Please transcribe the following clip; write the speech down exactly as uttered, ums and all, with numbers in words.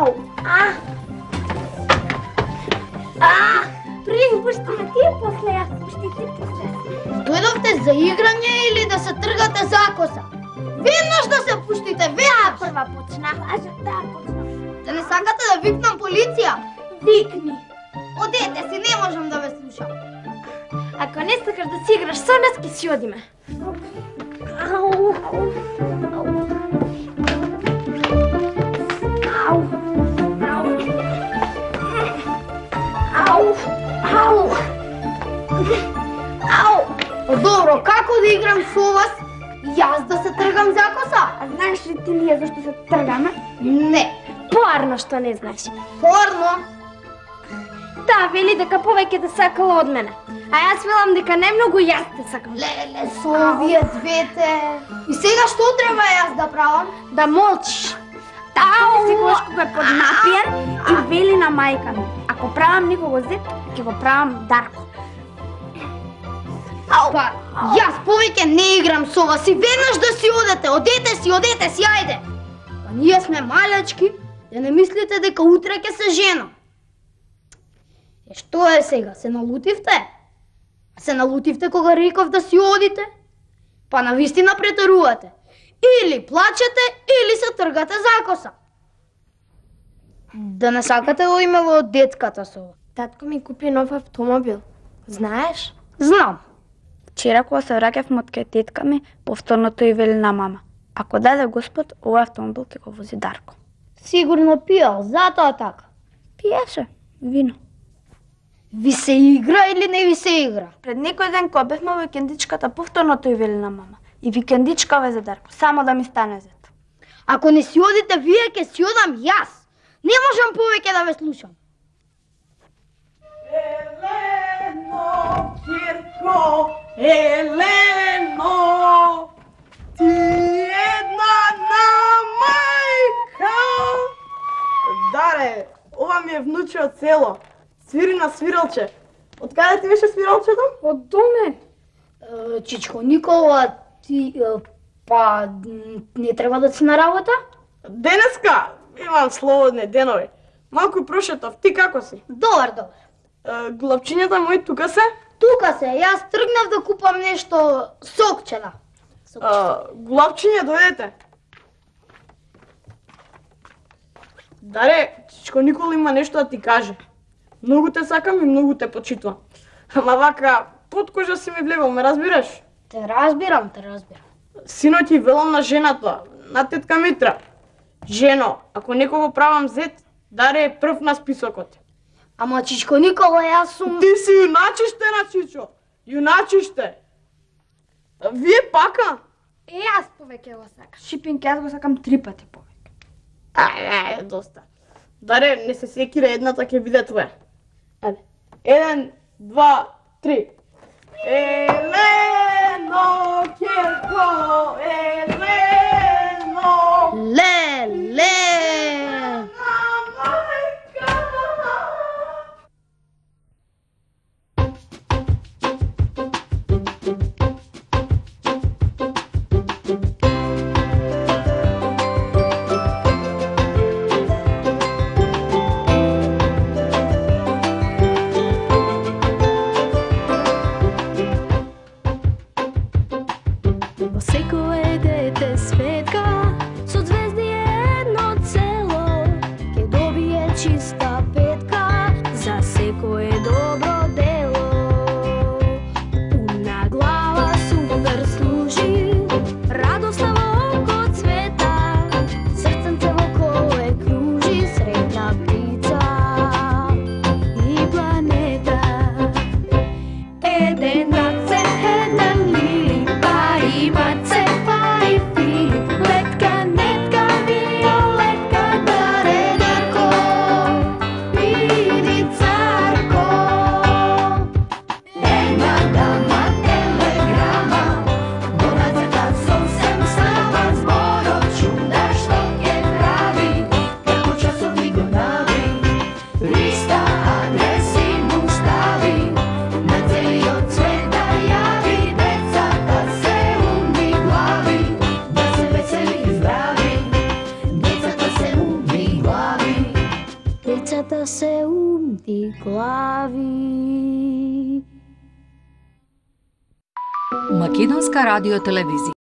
Ау! А! А! Први пушти ме ти, после јас пушти ти после. Дојдовте за играње или да се тргате за коса? Веднаш да се пуштите, веднаш! Прва почна. Лажа, да, почна. Да не сакате да викнам полиција? Викни. Одете си, не можам да ве слушам. Ако не сакаш да си играш со нас, ки си одиме. Ау, ау, ау. Ау, ау. Ау, ау. Ау. Па добро, како да играм со вас? Јас да се тргам за коса? А знаеш ли ти ние зашто се тргаме? Не. Порно што не знаеш. Порно? Да, вели дека повеќе те сакала од мене. А јас велам дека најмногу јас те сакам. Леле, со овие двете. И сега што треба јас да правам? Да молчиш. Така ми секогаш кога е поднапиен и вели на мајка ми. Ако правам некого зет, ќе го правам Дарко. Ау. Па, јас повеќе не играм со вас и веднаш да си одете. Одете си, одете си, ајде. Па ние сме малечки, да не мислите дека утре ќе се женам. Е, што е сега, се налутивте? Се налутивте кога реков да си одите? Па навистина претерувате. Или плачете, или се тргате за коса. Да не сакате да одиме во детската соба. Татко ми купи нов автомобил. Знаеш? Знам. Вчера кога се враќавме од кај тетка ми, повторно тој вели на мама: ако даде Господ, овој автомобил ќе го вози Дарко. Сигурно пиел, затоа така. Пиеше вино. Ви се игра или не ви се игра? Пред некој ден кога бевме во викендичката, повторно тој вели на мама: и викендичка ве за Дарко, само да ми стане зет. Ако не си одите вие, ќе си одам јас. Не можам повеќе да ве слушам. Елено, Кирко, Елено, ти една на мајка. Даре, ова ми е внуче од село. Свири на свиралче. Од каде ти беше свиралчето? Од доме. Чичко Никола, ти па не треба да си на работа? Денеска имам слободни денови. Малку прошетов, ти како си? Добар, добар. Главчињата мои тука се? Тука се, јас тргнав да купам нешто сокче, да. Главчиња, дојдете. Даре, Чичко Никола има нешто да ти каже. Многу те сакам и многу те почитувам. Ама вака, под кожа си ми влегол, ме разбираш? Те разбирам, те разбирам. Синој ти велам на жената, на тетка Митра. Жено, ако некого правам зет, Даре е прв на списокот. Ама Чичко Никола, јас сум... Ти си јуначиште на Чичо. Јуначиште. Вие пака? Е, јас повеќе го сакам. Шипинг, јас го сакам три пати повеќе. Ај, ај, доста. Даре, не се секира, едната ќе биде твоја. Ајде. Еден, два, три. Елено, Кирко, Елено. Ле, ле. Você com a ideia сета се умти глави. Македонска радио телевизија.